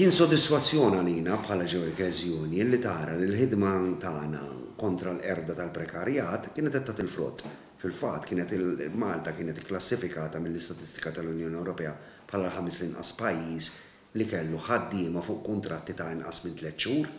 Kien sodisfazzjon għalina bħala Workers Union li tara li l-ħidma tagħna kontra l-qerda tal-prekarjat kienet qed tagħti l-frott. Fil-fatt kienet Malta kienet ikklassifikata mill-istatistika tal-Unjoni Ewropea bħala l-ħames l-inqas pajjiż li kellu ħaddiema fuq kuntratti ta' inqas minn 3 xhur.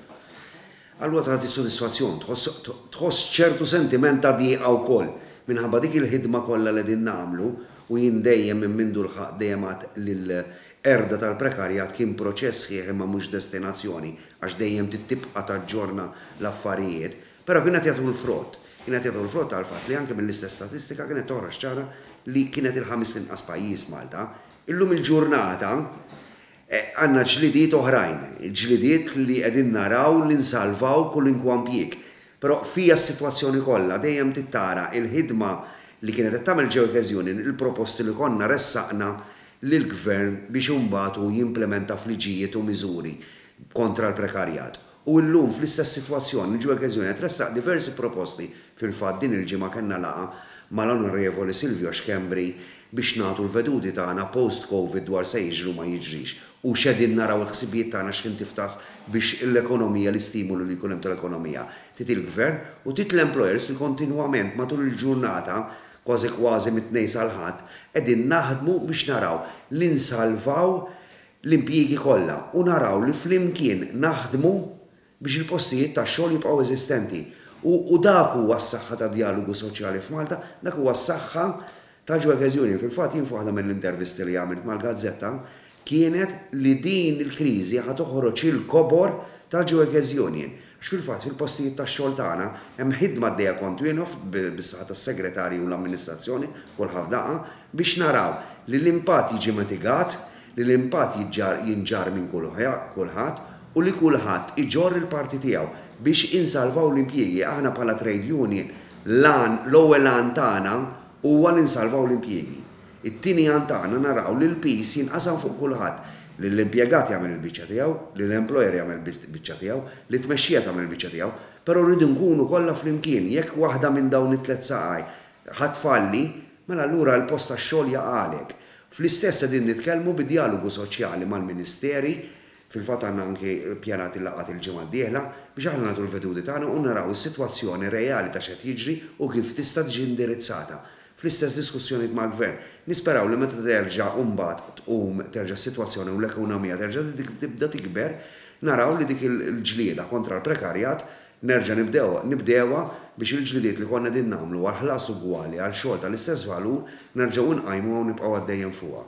Allura tagħti sodisfazzjon, tħoss ċertu sentiment ta' dieqa wkoll minħabba dik il-ħidma kollha li qegħdin nagħmlu u jien dejjem minn mindu lħaqt dejjem għedt li l-qerda tal-prekarjat kien proċess sħiħ imma mhux destinazzjoni għax dejjem trid tibqa' taġġorna l-affarijiet, però kien qed jagħtu l-frott. Kien qed jagħtu l-frott għall-fatt li anke mill-istess statistika kienet toħroġ ċara li kienet il-ħames l-inqas pajjiż Malta. Illum il-ġurnata għandna ġlidiet oħrajn, ġlidiet li qegħdin naraw li nsalvaw kulinkwa impjieg. Però fija s-sitwazzjoni kollha dejjem trid tara l-ħidma li kienet qed tagħmel Workers Union, il-proposti li konna ressaqna lill-Gvern biex imbagħad hu jimplementa f'liġijiet u miżuri kontra l-prekarjat. U illum fl-istess sitwazzjoni l-Workers Union qed tressaq diversi proposti, fil-fatt din il-ġimgħa kellna laqgħa mal-Onorevoli Silvio Schembri biex nagħtu l-veduti tagħna post-Covid dwar se jiġri u ma jiġrix u x'qegħdin naraw il-ħsibijiet tagħna x'ħin tiftaħ biex l-ekonomija, l-istimulu li jkun hemm tal-ekonomija. Trid il-Gvern u trid l-employers li kontinwament matul il-ġurnata, kważi kważi mit-Tnejn sal-Ħadd, qegħdin naħdmu biex naraw li nsalvaw l-impjiegi kollha u naraw li flimkien naħdmu biex il-postijiet tax-xogħol jibqgħu eżistenti. U u dak huwa s-saħħa tad-djalogu soċjali f'Malta, dak huwa s-saħħa tal-Workers Union. Fil-fatt jien f'waħda mill-intervisti li għamilt mal-gazzetta kienet li din il-kriżi ħa toħroġ il-kobor tal-Workers Union. Għax fil-fatt fil-postijiet tax-xogħol tagħna hemm ħidma għaddejja kontinwa bis-saħħa tas-segretarji u l-amministrazzjoni kulħadd f'daqqa biex naraw li l-impatt jiġi mitigat, li l-impatt jinġarr minn kulħadd u li kulħadd iġorr il-parti tiegħu biex insalvaw l-impjiegi. Aħna bħala trade union l-għan, l-ewwel għan tagħna huwa li nsalvaw l-impjiegi. It-tieni għan tagħna naraw li l-piż jinqasam fuq kulħadd, li l-impjegat jagħmel il-biċċa tiegħu, li l-employer jagħmel il-biċċa tiegħu, li t-tmexxija tagħmel il-biċċa tiegħu, però rridu nkunu kollha flimkien. Jekk waħda minn dawn it-tliet saqaj ħa tfalli, mela allura l-post tax-xogħol jaqagħlek. Fl-istess qegħdin nitkellmu bi djalogu soċjali mal-ministeri, fil-fatt għandna anki ppjanati laqgħat il-ġimgħa d-dieħla, biex aħna nagħtu l-veduti tagħna u naraw is-sitwazzjoni reali ta' x'qed jiġri u kif tista' tiġi indirizzata. Fl-istess diskussjonijiet mal-Gvern. Nisperaw li meta terġa' mbagħad tqum terġa' s-sitwazzjoni u l-ekonomija terġa' tibda tikber, naraw li dik il-ġlieda kontra l-prekarjat nerġa' nibdew nibdewha biex il-ġlidiet li konna qegħdin nagħmlu għal ħlas ugwali għal xogħol tal-istess valur nerġgħu nqajmuha u nibqgħu għaddejjin fuqha.